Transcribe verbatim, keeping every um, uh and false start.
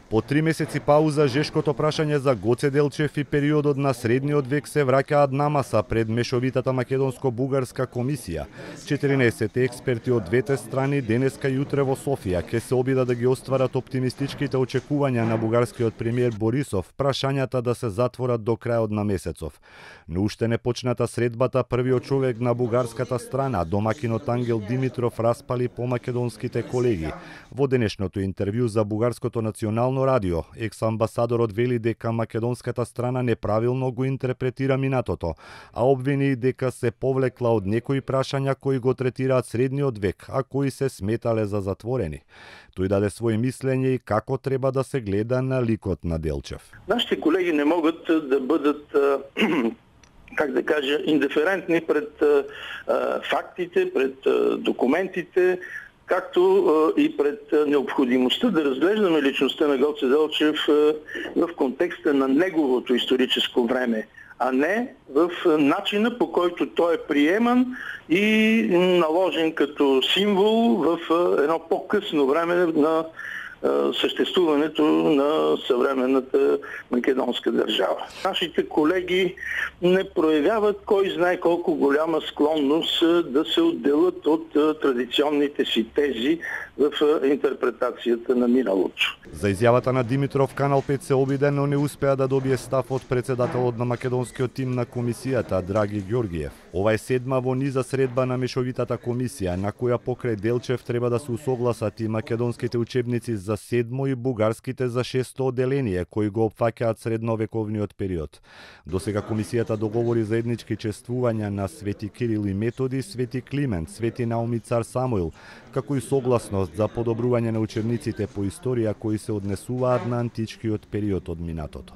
По три месеци пауза, жешкото прашање за Гоце Делчев и периодот на средниот век се враќаат на маса пред мешовитата македонско-бугарска комисија. четиринаесет експерти од двете страни денеска и утре во Софија ќе се обидат да ги остварат оптимистичките очекувања на бугарскиот премиер Борисов, прашањата да се затворат до крајот на месецов. Но уште не почната средбата, првиот човек на бугарската страна, домакинот Ангел Димитров, распали по македонските колеги. Во денешното интервју за Бугарското национално радио, екс-амбасадорот вели дека македонската страна неправилно го интерпретира минатото, а обвини дека се повлекла од некои прашања кои го третираат средниот век, а кои се сметале за затворени. Тој даде своје мислење и како треба да се гледа на ликот на Делчев. Нашите колеги не могат да бъдат как да кажа, индиферентни пред а, фактите, пред а, документите, както а, и пред а, необходимостта да разглеждаме личността на Гоце Делчев а, в контекста на неговото историческо време, а не в а, начина, по който той е приеман и наложен като символ в а, едно по-късно време на съществуването на съвременната македонска държава. Нашите колеги не проявяват кой знае колко голяма склонност да се отделят от традиционните си тези в интерпретацията на миналото. За изјавата на Димитров, Канал пет се обиде, но не успеа да добие став од председателот на македонскиот тим на комисијата Драги Ѓоргиев. Ова е седма во низа средба на мешовитата комисија, на која покрај Делчев треба да се усогласат и македонските учебници за седмо и бугарските за шесто одделение, кои го опфаќаат средновековниот период. Досега комисијата договори заеднички чествувања на Свети Кирил и Методи, Свети Климент, Свети Наум и Цар Самуил, како и согласност за подобрување на учебниците по историја кои се однесуваат на античкиот период од минатото.